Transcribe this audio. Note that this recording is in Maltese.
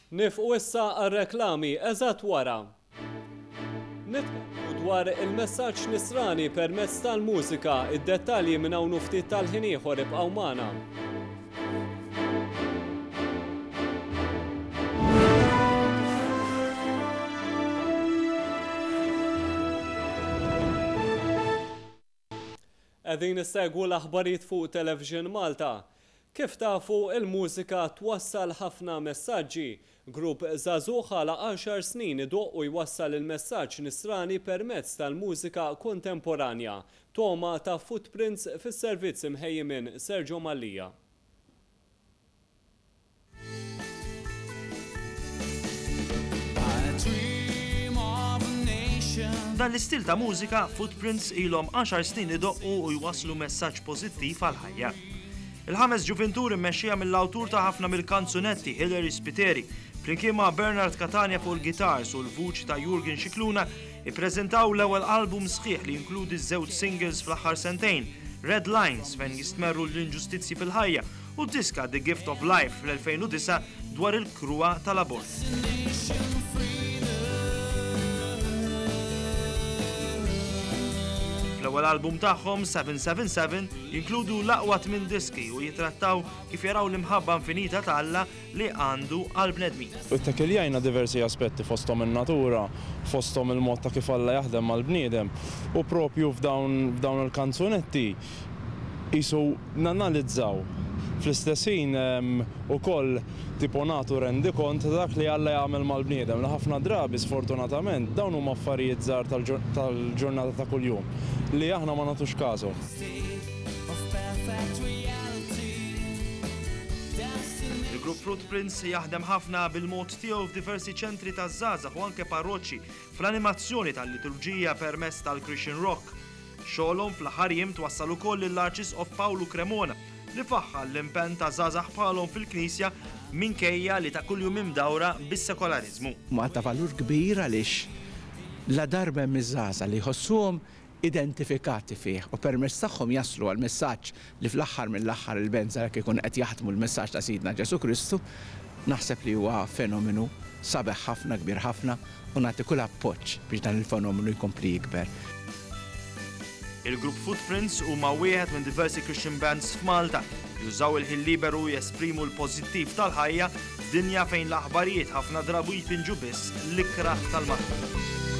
Nieqfu issa għar-reklami eżatt wara. Nitkellmu dwar il-messaġġ nisrani permezz tal-mużika, id-dettalji minn hawn u ftit tal-ħin ieħor ibqgħu magħna. Qegħdin issegwu l-aħbarijiet fuq Television Malta. Kif tafu, il-mużika twassal ħafna messaġġi. Grupp żagħżugħ għalaq għaxar snin idoqq u jwassal il-messaġġ nisrani permezz tal-mużika kontemporanja. Togħma ta' Footprints fis-servizz imħejji minn Sergio Mallia. Dan l-istil ta' mużika, Footprints ilhom għaxar snin idoqqu u jwasslu messaġġ pożittiv għall-ħajja. Il-ħames ġuvintur immexxija mill-awtur ta' ħafna mill-kanzunetti Hilary Spiteri, flimkien ma' Bernard Catania fuq il-gitars u l-vuċi ta' Jurgen Scicluna, ippreżentaw l-ewwel album sħiħ li jinkludi żewġ singles fl-aħħar sentejn, Red Lines fejn jistmerru l-inġustizzji fil-ħajja u d-diska The Gift of Life fl-2009 dwar il-kruha tal-abort. Fl-ewwel album tagħhom, 777, jinkludu l-aqwa tmien diski u jitrattaw kif jaraw l-imħabba infinita ta' Alla li għandu għall-bnedmin. Ittekiljajna diversi aspetti fosthom in-natura, fosthom il-mod ta' kif Alla jaħdem mal-bniedem u propju f'dawn il-kanzunetti qisu nanalizzaw fl-istess ħin ukoll tipo nagħtu rendikont ta' dak li Alla jagħmel mal-bniedem li ħafna drabi sfortunatament dawn huma affarijiet żgħar tal-ġurnata ta' kuljum li aħna ma nagħtux kashom. Il-grupp Fruitprints jaħdem ħafna bil-mod tiegħu f'diversi ċentri taż-żgħażagħ u anke parroċċi fl-animazzjoni tal-liturġija permezz tal-Christian Rock. Xogħolhom fl-aħħar jiem twassal ukoll lill-Arċisqof Pawlu Cremona li faħħar l-impenn ta' żgħażagħ bħalhom fil-Knisja minkejja li ta' kuljum imdawra bis-sekolariżmu. Huma ta' valur kbir għaliex ladarba hemm iż-żgħażagħ li jħossuhom identifikati fih u permezz tagħhom jaslu għall-messaġġ li fl-aħħar mill-aħħar il-Benza jekk ikun qed jaħdmu l-messaġġ ta' Sidna Ġesù Kristu, naħseb li huwa fenomenu sabiħ ħafna, kbir ħafna u nagħti kull appoġġ biex dan il-fenomenu jkompli jikber. Il-grupp Footprints huma wieħed minn diversi Christian bands f'Malta li jużaw il-ħin liberu jesprimu l-pożittiv tal-ħajja f'dinja fejn l-aħbarijiet ħafna drabu jpinġu biss l-ikrah tal-maħfra.